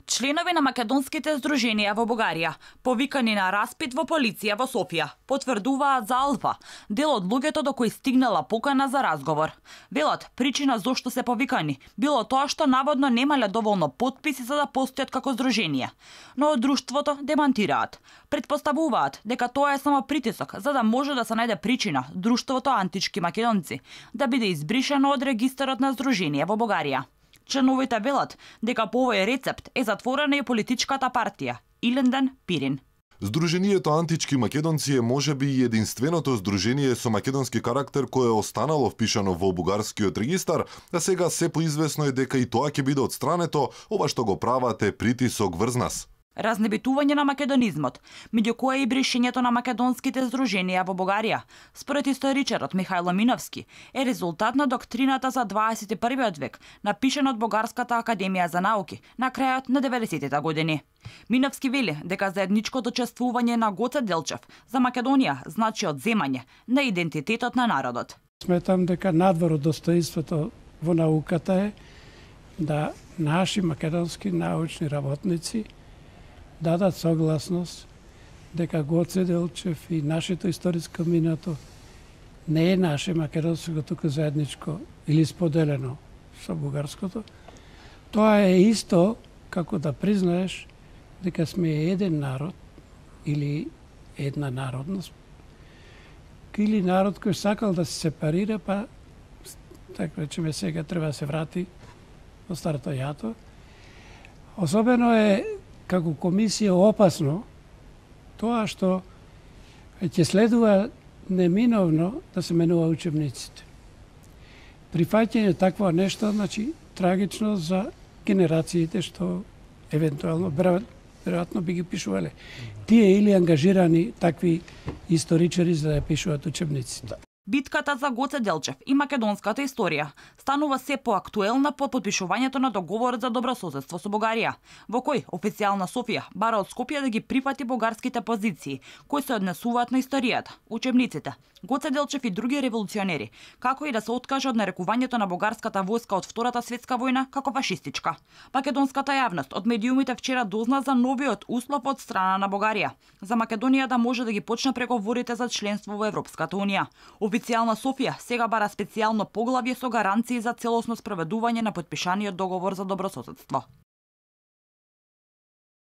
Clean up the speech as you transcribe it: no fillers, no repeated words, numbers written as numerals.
Членови на македонските здруженија во Бугарија, повикани на распит во полиција во Софија, потврдуваат за Алфа, дел од луѓето до кои стигнала покана за разговор. Велат, причина зошто се повикани било тоа што наводно немале доволно потписи за да постојат како здруженија. Но од друштвото демантираат. Предпоставуваат дека тоа е само притисок за да може да се најде причина друштвото Антички македонци да биде избришано од регистарот на здруженија во Бугарија. Членовите велат дека по овој рецепт е затворена и политичката партија Иленден Пирин. Здруженијето Антички македонци е можеби и единственото здружение со македонски карактер кое е останало впишано во бугарскиот регистар, а сега се поизвестно е дека и тоа ќе биде отстрането, ова што го прават е притисок врз нас. Разнебитување на македонизмот, меѓу кое и бришењето на македонските здруженија во Бугарија, според историчарот Михајло Миновски, е резултат на доктрината за 21 век, напишана од Бугарската академија за науки на крајот на 90-тите години. Миновски вели дека заедничкото чествување на Гоце Делчев за Македонија значи одземање на идентитетот на народот. Сметам дека надвор од достоинството во науката е да наши македонски научни работници дадат согласност дека Гоце Делчев и нашето историско минато не е наше македонско, туку заедничко или споделено со бугарското. Тоа е исто како да признаеш дека сме еден народ или една народност или народ кој сакал да се сепарира, па така речеме сега треба да се врати во старото јато. Особено е како комисија опасно тоа што ќе следува неминовно да се менува учебниците. Прифаќање такво нешто, значи трагично за генерациите што евентуално веројатно би ги пишувале. Тие или ангажирани такви историчари за да пишуваат учебниците. Битката за Гоце Делчев и македонската историја станува се поактуелна по подпишувањето на договорот за добрососедство со Бугарија, во кој официјална Софија бара од Скопје да ги прифати бугарските позиции кои се однесуваат на историјата, учебниците, Гоце Делчев и други револуционери, како и да се откаже од нарекувањето на бугарската војска од Втората светска војна како фашистичка. Македонската јавност од медиумите вчера дозна за новиот услов од страна на Бугарија за Македонија да може да ги почне преговорите за членство во Европската унија. Официјална Софија сега бара специјално поглавје со гаранции за целосно спроведување на потпишаниот договор за добрососедство.